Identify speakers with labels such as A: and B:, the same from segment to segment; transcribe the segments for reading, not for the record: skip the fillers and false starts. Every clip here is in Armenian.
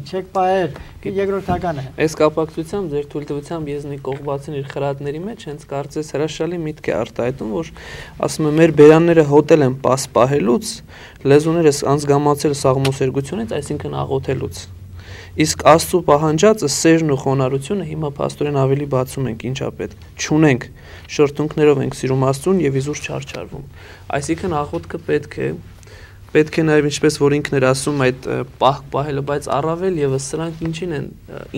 A: Չեք պահել, երկրորդական է։
B: Այս կապակցությամբ ձեր թույլտվությամբ Եզնի Կողբացին իր խրատների մեջ հենց կարծես հրաշալի միտք է արտահայտում, որ ասում է մեր բերանները հոտել են պահելուց, լեզուներս անզգամացել սաղմոսերգությունից, այսինքն աղոթելուց։ Իսկ Աստծո պահանջածը սերն ու խոնարհությունը հիմա փաստորեն ավելի բացում ենք, ինչա պետք։ Չունենք, շրթունքներով ենք սիրում Աստծուն եւ իզուր չարչարվում։ Այսինքն աղոթքը պետք է նաև ինչպես որ ինքն էր ասում այդ պահք պահելը, բայց առավել եւս սրանք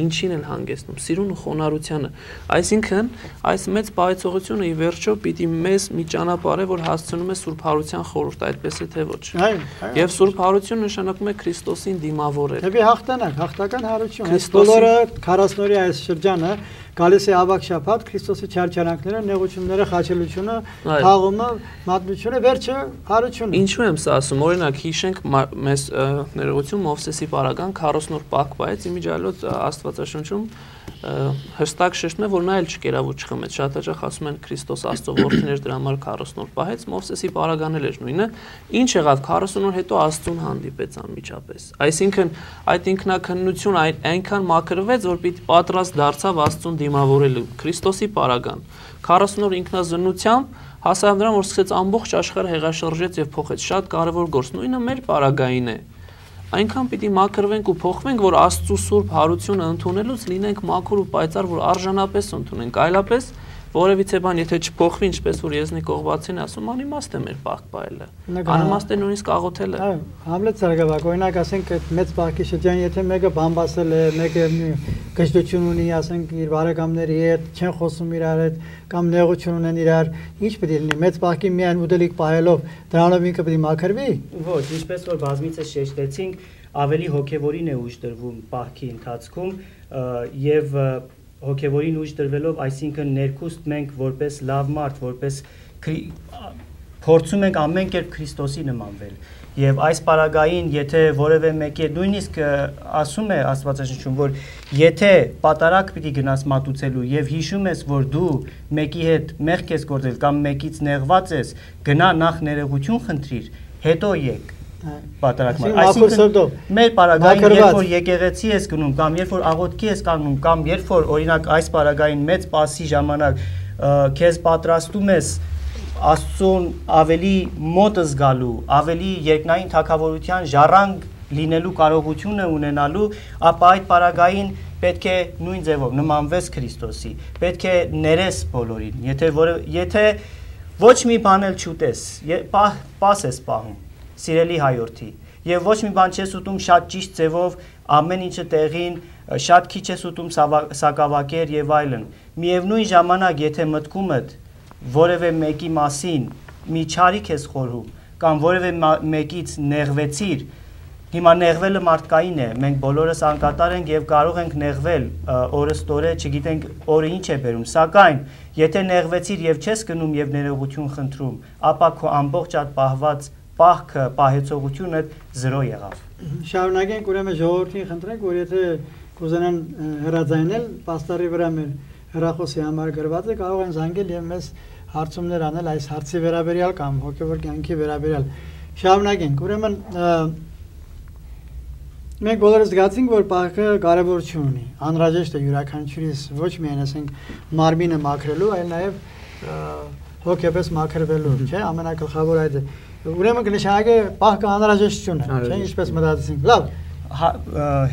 B: ինչին են հանգեցնում, սիրուն ու խոնարհությանը։ Այսինքն այս մեծ պահեցողությունը ի վերջո պիտի մեզ մի ճանապարհ է, որ հասցնում է Սուրբ Հարության խորհուրդ, այդպես է թե ոչ։ Եվ Սուրբ Հարություն նշանակում է Քրիստոսին դիմավորել։
A: Դեպի հաղթանակ, հաղթական հարություն։ Այս բոլորը 40-օրյա այս շրջանը գալիս է ավակ շաբաթ, Քրիստոսի չարչարանքները, նեղությունները, խաչելությունը, թաղումը, մատնությունը, վերջը հարությունը։
B: Ինչու եմ սա ասում, օրինակ հիշենք մեզ ներողություն Մովսեսի պարագան 40 օր պահք պահեց, իմիջիայլոց Աստվածաշնչում հստակ շեշտում է, որ նա էլ չկերավ ու չխմեց։ Շատ հաճախ ասում են Քրիստոս Աստծո որդին էր, դրա համար 40 օր պահեց, Մովսեսի պարագան էլ էր նույնը։ Ինչ եղավ 40 օր հետո Աստծուն հանդիպեց անմիջապես։ Այսինքն այդ ինքնակնություն այնքան մաքրվեց, որ պիտի պատրաստ դարձավ Աստծուն դիմավորելու Քրիստոսի պարագան 40 օր ինքնազննությամբ հասավ նրան, որ սկսեց ամբողջ աշխարհը հեղաշրջեց եւ փոխեց։ Շատ կարեւոր գործ, նույնը մեր պարագային է։ Այնքան պիտի մաքրվենք ու փոխվենք, որ Աստծո Սուրբ Հարությունը ընդունելուց լինենք մաքուր ու պայծառ, որ արժանապես ընդունենք, այլապես որևիցե բան եթե չփոխվի, ինչպես որ Եզնի Կողբացին ասում, անիմաստ է մեր պահք պահելը։ Անիմաստ է նույնիսկ աղոթելը։
A: Համլետ Սարգսակ, օրինակ ասենք այդ մեծ պահքի շրջան, եթե մեկը բամբասել է, մեկը գժտություն ունի, ասենք իր բարեկամների հետ, չեն խոսում իրար հետ, կամ նեղություն ունեն իրար, ինչ պետք է լինի, մեծ պահքի միայն ուտելիք պահելով, դրանով ինքը պետք է մաքրվի։
C: Ոչ, ինչպես որ բազմիցս շեշտեցինք, ավելի հոգևորին է ուժ տրվում պահքի ընթացքում եւ հոգևորին ուժ տրվելով, այսինքն ներքուստ մենք որպես լավ մարդ, որպես փորձում ենք ամեն կերպ Քրիստոսի նմանվել։ Եվ այս պարագային, եթե որևէ մեկի նույնիսկ ասում է Աստվածաշնչում, որ եթե պատարակ պիտի գնաս մատուցելու եւ հիշում ես, որ դու մեկի հետ մեղք ես գործել կամ մեկից նեղված ես, գնա նախ ներողություն խնդրիր, հետո եկ պատարակ մատուցել։ Այսինքն մեր պարագային, երբ որ եկեղեցի ես գնում կամ երբ որ աղոթքի ես կանգնում կամ երբ որ օրինակ այս պարագային մեծ պասի ժամանակ քեզ պատրաստում ես Աստծուն ավելի մոտ զգալու, ավելի երկնային թագավորության ժառանգ լինելու կարողությունը ունենալու, ապա այդ պարագային պետք է նույն ձևով նմանվես Քրիստոսի, պետք է ներես բոլորին, եթե ոչ մի բան էլ չուտես, պաս ես պահում, սիրելի հայորդի, եւ ոչ մի բան չես ուտում շատ ճիշտ ձևով, ամեն ինչը տեղին, շատ քիչ ես ուտում սակավակեր եւ այլն, միևնույն ժամանակ եթե մտքումդ որևէ մեկի մասին մի չարիք ես խորհում կամ որևէ մեկից նեղվեցիր, հիմա նեղվելը մարդկային է, մենք բոլորս անկատար ենք եւ կարող ենք նեղվել օրըստօրե, չգիտենք օրը ինչ է բերում, սակայն եթե նեղվեցիր եւ չես գնում եւ ներողություն խնդրում, ապա քո ամբողջ այդ պահված պահքը, պահեցողությունը 0 եղավ։
A: Շարունակենք ուրեմն ժողովրդին խնդրենք, որ եթե կուզենան հրաձայնել պաստառի վրա մեր հեռախոսի համար գրված է, կարող են զանգել եւ մեզ հարցումներ անել այս հարցի վերաբերյալ կամ հոգեվոր կյանքի վերաբերյալ։ Շարունակենք, ուրեմն մենք բոլորս զգացինք, որ պահքը կարևորություն ունի, անհրաժեշտ է յուրաքանչյուրիս ոչ միայն ասենք մարմինը մաքրելու, այլ նաեւ հոգեպես մաքրվելու, չէ՞, ամենակլխավոր այդ է։ Ուրեմն կնշանակե պահքը անհրաժեշտություն է, չէ՞, ինչպես մտածեցինք։ Լավ,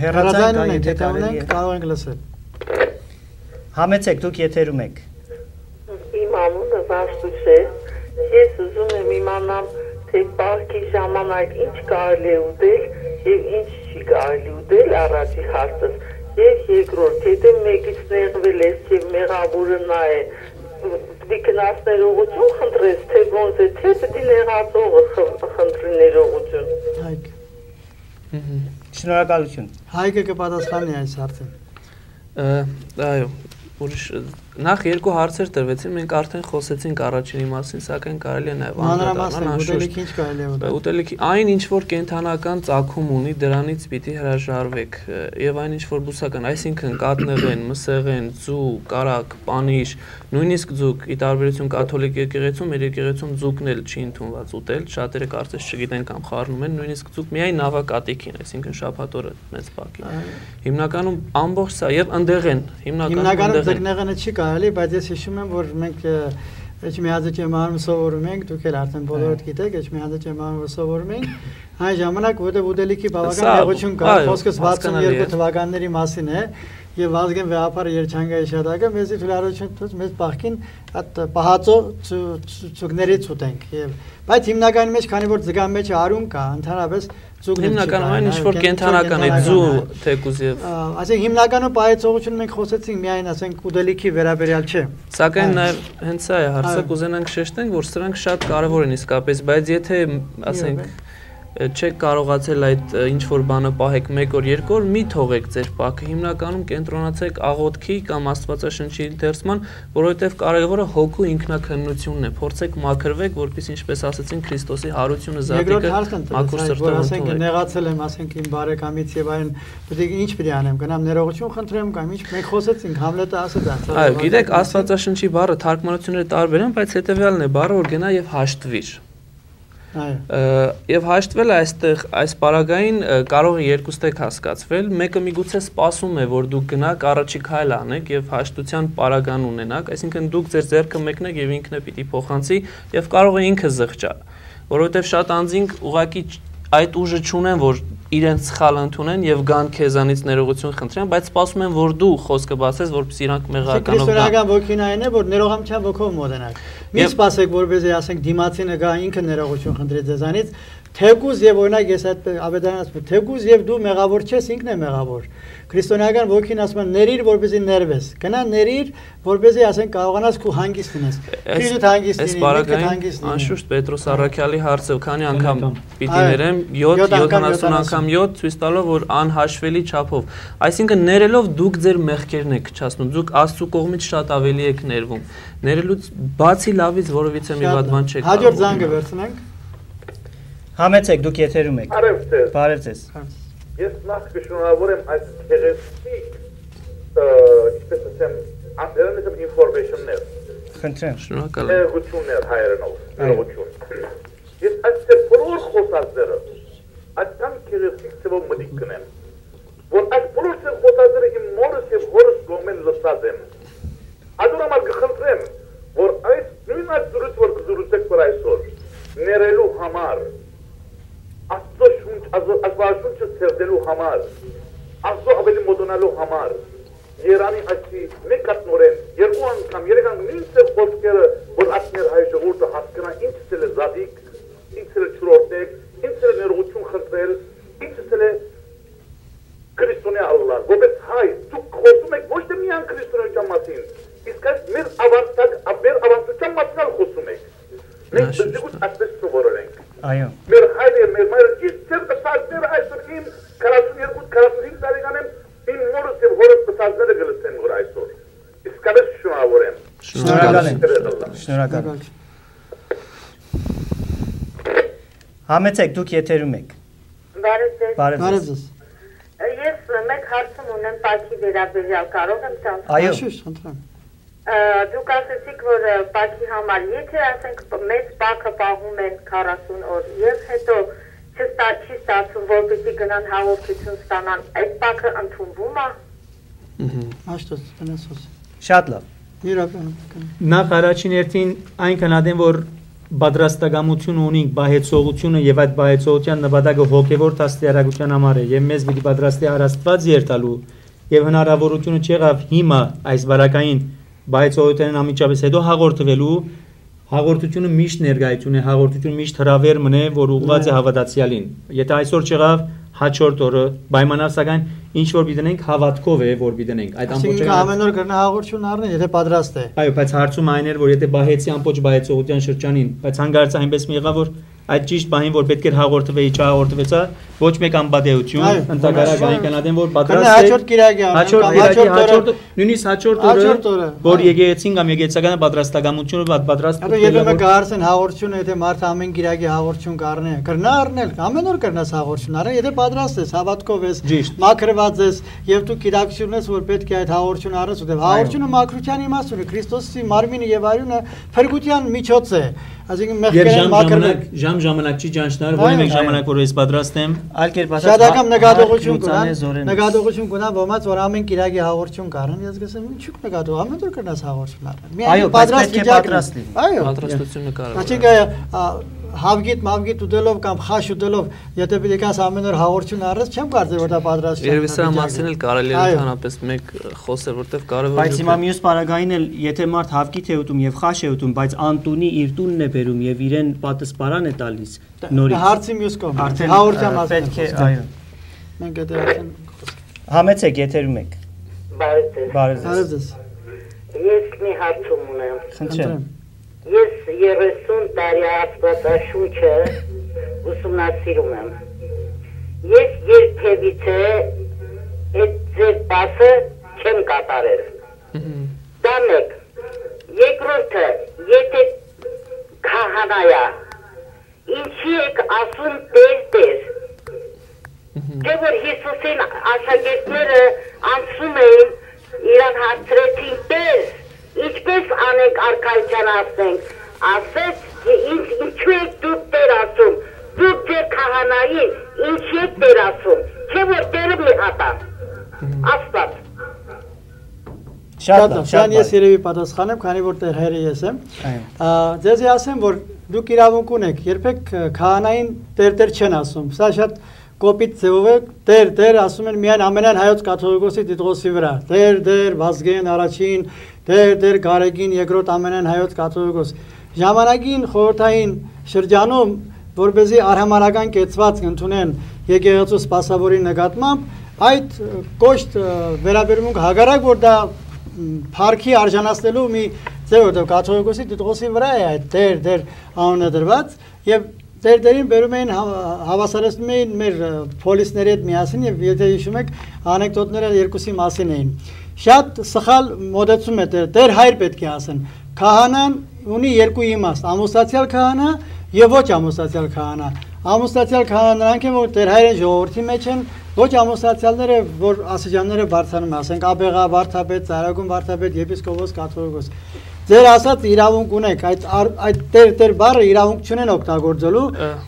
A: հեռացանք, եթե կարող ենք լսել։
C: Համեցեք, դուք եթերում եք։
D: Իմ անունը Վարդուս է, ես ուզում եմ իմանամ, թե պահքի ժամանակ ինչ կարելի է ուտել եւ ինչ չի կարելի ուտել, առաջի հարցս, եւ երկրորդ, եթե մեկից նեղվել ես եւ մեղավորը նա է, պիտի գնաս ներողություն խնդրես, թե ոնց է, թե պիտի նեղածողը խնդրի ներողություն։
A: Հայկ։
C: Շնորհակալություն։
A: Հայկը կպատասխանի այս հարցին։
B: Այո, ուրիշ նախ երկու հարցեր տրվեցին, մենք արդեն խոսեցինք առաջինի մասին, սակայն կարելի է նաև
A: անդրադառնալ, ուտելիքի ինչ կարելի է ուտել։
B: Ուտելիքի այն ինչ որ կենթանական ծագում ունի, դրանից պիտի հրաժարվեք, եւ այն ինչ որ բուսական, այսինքն կատնեղեն, մսեղեն, ձու, կարակ, պանիր, նույնիսկ ձուկ, ի տարբերություն կաթոլիկ եկեղեցում, մեր եկեղեցում ձուկն էլ չի ընդունված ուտել, շատերը կարծես չգիտեն կամ խառնում են, նույնիսկ ձուկ միայն նավակատիքին, այսինքն շաբաթօրը մեծ բակի։ Հիմնականում ամբողջ սա եւ ընդեղեն,
A: հիմնականում ձկնեղենը չի կարելի, բայց ես հիշում եմ, որ մենք Էջմիածը ճեմարում սովորում ենք, դուք էլ արդեն բոլորդ գիտեք, Էջմիածը ճեմարում սովորում ենք, այն ժամանակ որտեղ ուտելիքի բավական հեղություն կար, խոսքս 62 թվականների մասին է, եւ Վազգեն վեհապարը երջանկայի շատակը մեզի թույլատվություն տուց մեզ բախքին այդ պահածո ցուկներից ուտենք եւ բայց հիմնականի մեջ քանի որ ձգան մեջ արուն կա ընդհանրապես ցուկներ
B: հիմնականում այն ինչ որ կենթանական է ձու թեկուզ եւ
A: ասենք հիմնականում պահեցողությունը մենք խոսեցինք միայն ասենք ուտելիքի վերաբերյալ չէ
B: սակայն նաեւ հենց սա է հարցը կուզենանք շեշտենք որ սրանք շատ կարեւոր են իսկապես բայց եթե ասենք չեք կարողացել այդ ինչ որ բանը պահեք 1 օր 2 օր մի թողեք ձեր պակը հիմնականում կենտրոնացեք աղոթքի կամ աստվածաշնչի ընթերցման որովհետև կարևորը հոգու ինքնակնությունն է փորձեք մաքրվեք որպես ինչպես ասացին Քրիստոսի հարությունը զատիկը մաքուր սրտով
A: ասենք նեղացել եմ ասենք իմ բարեկամից եւ այն պետք է ինչ պետք է անեմ գնամ ներողություն խնդրեմ կամ ինչ մենք խոսեցինք Համլետը ասաց
B: այո գիտեք աստվածաշնչի բառը թարգմանությունները տարբեր են բայց հետեւյալն է բառը որ գնա եւ հաշտվիր Եվ հաշտվել այստեղ այս պարագային կարող է երկուստեք հասկացվել, մեկը միգուցե սպասում է, որ դուք գնաք առաջի քայլ անեք եւ հաշտության պարագան ունենաք, այսինքն դուք ձեր ձեռքը մեկնեք եւ ինքն է պիտի փոխանցի եւ կարող է ինքը զղջա, որովհետեւ շատ անձինք ուղակի այդ ուժը չունեն, որ իրենց սխալ ընդունեն եւ գան քեզանից ներողություն խնդրեն, բայց սպասում են, որ դու խոսքը բացես, որպեսզի իրանք մեղականով գան։
A: Քրիստոնեական ոգին այն է, որ ներողամության ոգով մոտենաք։ Մի սպասեք, որպեսզի ասենք դիմացինը գա ինքը ներողություն խնդրի ձեզանից, թեկուզ եւ օրինակ ես այդ ավետարանից ասում եմ, թեկուզ եւ դու մեղավոր չես, ինքն է մեղավոր։ Քրիստոնեական ոգին ասում է ներիր, որպեսզի ներվես։ Գնա ներիր, որպեսզի ասենք կարողանաս քու հանգիստ լինես։ Քրիստոս հանգիստ լինի, ինքը հանգիստ լինի։
B: Անշուշտ Պետրոս Առաքյալի հարցը քանի անգամ պիտի ներեմ 70 անգամ 7 ցույց տալով որ անհաշվելի չափով։ Այսինքն ներելով դուք ձեր մեղքերն եք քչացնում, դուք Աստծո կողմից շատ ավելի եք ներվում։ Ներելուց բացի լավից որովիցե մի վատ բան չեք կարող։
A: Հաջորդ զանգը վերցնենք։
C: Համեցեք դուք եթերում եք։ Բարև ձեզ։
E: Ես նախ կշնորհավորեմ այս գեղեցիկ ինչպես ասեմ, անձեռնիցեմ ինֆորմացիաներ։
C: Խնդրեմ։
B: Շնորհակալ եմ։
E: Գություններ հայերենով, ներողություն։ Ես այս բոլոր խոսածները այդքան գեղեցիկ ծավալ մտիկ կնեմ, որ այս բոլոր խոսածները իմ մորս եւ հորս կողմեն լսած եմ։ Adorama կխնդրեմ, որ այս նույն այս դուրս որ կզրուցեք որ այսօր ներելու համար Աստծո շունչ, աստվածաշունչը ծերդելու համար, Աստծո ավելի մոտոնալու համար, Երանի այսի մեկ կատնորեն, երկու անգամ, երեք անգամ նույնս է խոսքերը, որ ասներ հայ ժողովուրդը հասկանա ինչս էլ է զադիկ, ինչս էլ է չորոտեք, ինչս էլ է ներողություն խնդրել, ինչս էլ է քրիստոնյա Ալլահ, որպես հայ, դուք խոսում եք ոչ թե միայն քրիստոնեության մասին, իսկ այս մեր ավանդության մասին խոսում եք։ Մենք դժգոհ ասես սովորել ենք։
C: Այո։
E: Մեր հայրը, մեր մայրը ճիշտ ծերտասարները այսօր իմ 42-45 տարեկան եմ, իմ մորս եւ հորս ծածկները գլստեն որ այսօր։ Իսկապես շնորհավորեմ։
C: Շնորհակալ եմ։ Շնորհակալ եմ։ Համեցեք դուք եթերում եք։
A: Բարև ձեզ։
D: Ես մեկ հարցում ունեմ Պաքի վերաբերյալ, կարող եմ տալ։
C: Այո։
A: Խնդրեմ։
D: Դուք ասեցիք, որ Պաքի համար, եթե ասենք մեծ Պաքը պահում են 40 օր եւ հետո չի ստացվում, որպեսզի գնան հաղորդություն ստանան, այդ Պաքը ընդունվում է։
A: Աշտոց, բնասոս։
C: Շատ լավ։
A: Իրական։
F: Նախ առաջին հերթին այն կնադեն, որ պատրաստակամություն ունենք բահեցողությունը եւ այդ բահեցողության նպատակը հոգեվոր դաստիարակության համար է եւ մեզ պիտի պատրաստի Աստված երթալու եւ հնարավորությունը չեղավ հիմա այս բարակային բահեցողությանն ամիջապես հետո հաղորդվելու հաղորդությունը միշտ ներկայություն է հաղորդությունը միշտ հրավեր մնե որ ուղղված է հավատացյալին եթե այսօր չեղավ հաջորդ օրը պայմանավ սակայն ինչ որ պիտենք հավատքով է որ պիտենք այդ ամբողջը
A: ամեն օր կրնա հաղորդություն առնել եթե պատրաստ է
F: այո բայց հարցում այն էր որ եթե բահեցի ամբողջ բահեցողության շրջանին բայց հանգարց այնպես մի եղավ որ այդ ճիշտ բանին որ պետք է հաղորդվեի, չհաղորդվեցա, ոչ մեկ անբադեություն, ընդհանրապես այնքանադեմ որ պատրաստ է
A: հաջորդ կիրակի,
F: նույնիսկ հաջորդ օրը, որ եկեղեցին կամ եկեղեցականը պատրաստակամությունը պատրաստ
A: Եթե գարցեն հաղորդությունը, եթե մարդը ամեն կիրակի հաղորդություն կառնի, կրնա առնել, ամեն օր կրնաս հաղորդություն առնել, եթե պատրաստ ես, հավատքով ես, մաքրված ես եւ դու կիրակություն ես, որ պետք է այդ հաղորդությունը առնես, որտեղ հաղորդությունը մաքրության իմաստուն է, Քրիստոսի մարմինը եւ արյունը փրկության միջոց է, այսինքն մեղքերեն մաքրվել
F: ժամանակ չի ճանչնար, որ մեկ ժամանակ որ ես պատրաստ եմ,
C: այլ կերպ ասած,
A: շատակամ նկատողություն կունա, ոմած որ ամեն կիրակի հաղորդություն կառնեն, ես գսեմ, ինչու՞ նկատող, ամեն օր կրնաս հաղորդություն առնել։
C: Այո, պատրաստ լինի։
A: Այո,
B: պատրաստությունը կարող։
A: Այսինքն հավգիտ ուտելով կամ խաշ ուտելով, եթե պետք է ամեն օր հաղորդություն առես, չեմ կարծել որ դա պատրաստ
B: է։ Երևի սա մասին էլ կարելի է ընդհանրապես մեկ խոսել, որտեղ կարևոր է։
C: Բայց հիմա մյուս պարագային էլ, եթե մարդ հավգիտ է ուտում եւ խաշ է ուտում, բայց անտունի իր տունն է բերում եւ իրեն պատասպարան է տալիս, նորից։
A: Հարցի մյուս կողմը։ Հաղորդության մասին
C: պետք է, այո։
A: Մենք դեռ
C: Համեցեք եթերում եք։
D: Բարև ձեզ։ Ես մի հարցում ունեմ։
C: Խնդրեմ։
D: Ես 30 տարի Աստվածաշունչը ուսումնասիրում եմ։ Ես երբևիցե այդ ձեր բասը չեմ կատարել։ Դա մեկ։ Երկրորդը, եթե քահանայա, ինչի եք ասում Տեր։ Թե որ Հիսուսին աշակերտները անցում էին, իրան հարցրեցին Տեր, ինչպես անենք արքայության ասենք, ասեց, ինչու եք դուք Տեր ասում, դուք ձեր քահանային, ինչի եք Տեր ասում, չէ որ Տերը մի հատա, Աստված։
A: Շատ ես երևի պատասխանեմ, քանի որ Տեր Հայրը ես եմ։ Ձեզ ասեմ, որ դուք իրավունք ունեք, երբեք քահանային Տեր չեն ասում, սա շատ կոպիտ ձևով է, Տեր ասում են միայն ամենայն հայոց կաթողիկոսի Տիտղոսի վրա, Տեր Վազգեն առաջին, Տեր Գարեգին երկրորդ ամենայն հայոց կաթողիկոս։ Ժամանակին խորհրդային շրջանում, որպեսզի արհամարհական կեցվածք ընդունեն եկեղեցու սպասավորի նկատմամբ, այդ կոշտ վերաբերմունք հակառակ որ դա փառքի արժանացնելու մի ձև է, կաթողիկոսի Տիտղոսի վրա է այդ Տեր անունը դրված եւ Տերին բերում էին հավասարեցնում էին մեր պոլիսների հետ միասին եւ եթե հիշում եք անեկդոտները երկուսի մասին էին։ Շատ սխալ մոդեցում է Տեր Հայր պետք է ասեն։ Քահանան ունի երկու իմաստ՝ ամուսնացյալ քահանա եւ ոչ ամուսնացյալ քահանա։ Ամուսնացյալ քահանան նրանք են, որ Տեր Հայրը ժողովրդի մեջ են, ոչ ամուսնացյալները, որ ասիջանները բարձրանում, ասենք Աբեղա, Վարդապետ, Ծառագուն Վարդապետ, եպիսկոպոս, կաթողիկոս։ Ձեր ասած իրավունք ունեք, այդ Տեր բառը իրավունք չունեն օգտագործելու,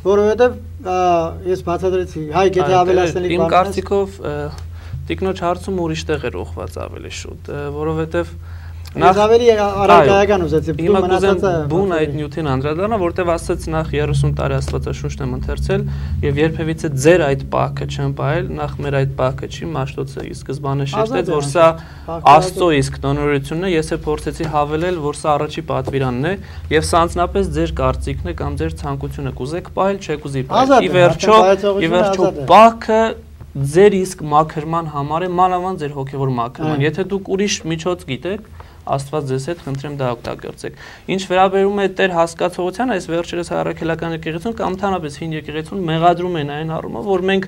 A: որովհետև ես բացատրեցի, Հայկ եթե ավելացնելիք
B: Իմ կարծիքով տիկնոջ հարցում ուրիշ տեղ էր ուղղված ավելի շուտ, որովհետև
A: Ես ավելի առարկայական ուզեցի,
B: դու մնացածը բուն այդ նյութին անդրադառնա, որտեվ ասաց նախ 30 տարի Աստվածաշունչն եմ ընթերցել եւ երբևիցե ձեր այդ պահքը չեմ ողել, նախ մեր այդ պահքը չի, Մաշտոցը ի սկզբանե շեշտեց, որ սա Աստծո իսկ տոնորությունն է, ես է փորձեցի հավելել, որ սա առաջի պատվիրանն է եւ սա անձնապես ձեր կարծիքն է կամ ձեր ցանկությունը, կուզեք պահել, չեք ուզի պահել։ Ի վերջո պահքը ձեր իսկ մաքրման համար է, մանավանդ ձեր հոգեվոր մաքրման։ Եթե դուք ուրիշ միջոց գիտեք, Աստված ձեզ հետ խնդրեմ դա օգտագործեք։ Ինչ վերաբերում է Տեր հասկացողության, այս վերջերս հայրաքելական եկեղեցուն կամ ընդհանրապես հին եկեղեցուն մեղադրում են այն առումով, որ մենք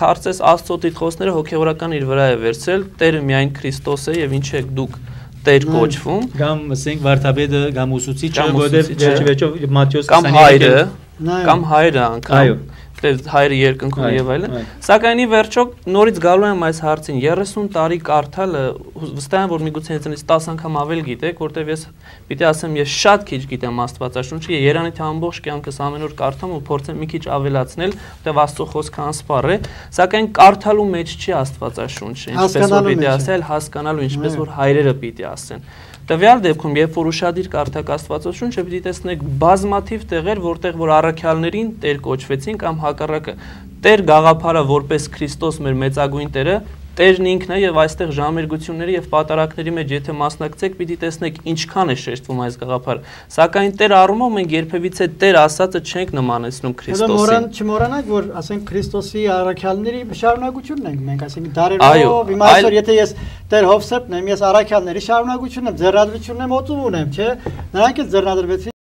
B: կարծես Աստծո տիտղոսները հոգեվորական իր վրա է վերցրել, Տերը միայն Քրիստոս է եւ ինչ եք դուք Տեր կոչվում,
F: կամ ասենք Վարդապետը կամ ուսուցիչը, որովհետեւ վերջով Մատթեոս
B: 20 կամ հայրը անգամ հայրը երկնքում եւ այլն, սակայն ի վերջո նորից գալու եմ այս հարցին 30 տարի կարդալը վստահ եմ որ միգուցե ինձնից 10 անգամ ավել գիտեք, որտեվ ես պիտի ասեմ ես շատ քիչ գիտեմ Աստվածաշունչը, Երանիթ ամբողջ կյանքս ամեն օր կարդամ ու փորձեմ մի քիչ ավելացնել, որտեվ Աստծո խոսքը անսպառ է, սակայն կարդալու մեջ չի Աստվածաշունչը, ինչպես որ պիտի ասել, հասկանալու ինչպես որ հայրերը պիտի ասեն։ Տվյալ դեպքում, երբ որ ուշադիր կարդաք Աստվածաշունչը, պիտի տեսնեք բազմաթիվ տեղեր, որտեղ որ առաքյալներին Տեր կոչվեցին կամ հակառակը Տեր գաղափարը որպես Քրիստոս մեր մեծագույն Տերը, Տերն ինքն է եւ այստեղ ժամերգությունների եւ պատարակների մեջ եթե մասնակցեք, պիտի տեսնեք ինչքան է շեշտվում այս գաղափարը։ Սակայն Տեր առումով մենք երբևիցե Տեր ասածը չենք նմանեցնում Քրիստոսին։
A: Չմոռանանք, որ ասենք Քրիստոսի առաքյալների շարունակությունն ենք մենք, ասենք դարերով, հիմա այսօր եթե ես Տեր Հովսեփն եմ, ես առաքյալների շարունակությունն եմ, ձեռնադրությունն եմ, օծում ունեմ, չէ՞։ Նրանք էլ ձեռնադրվեցին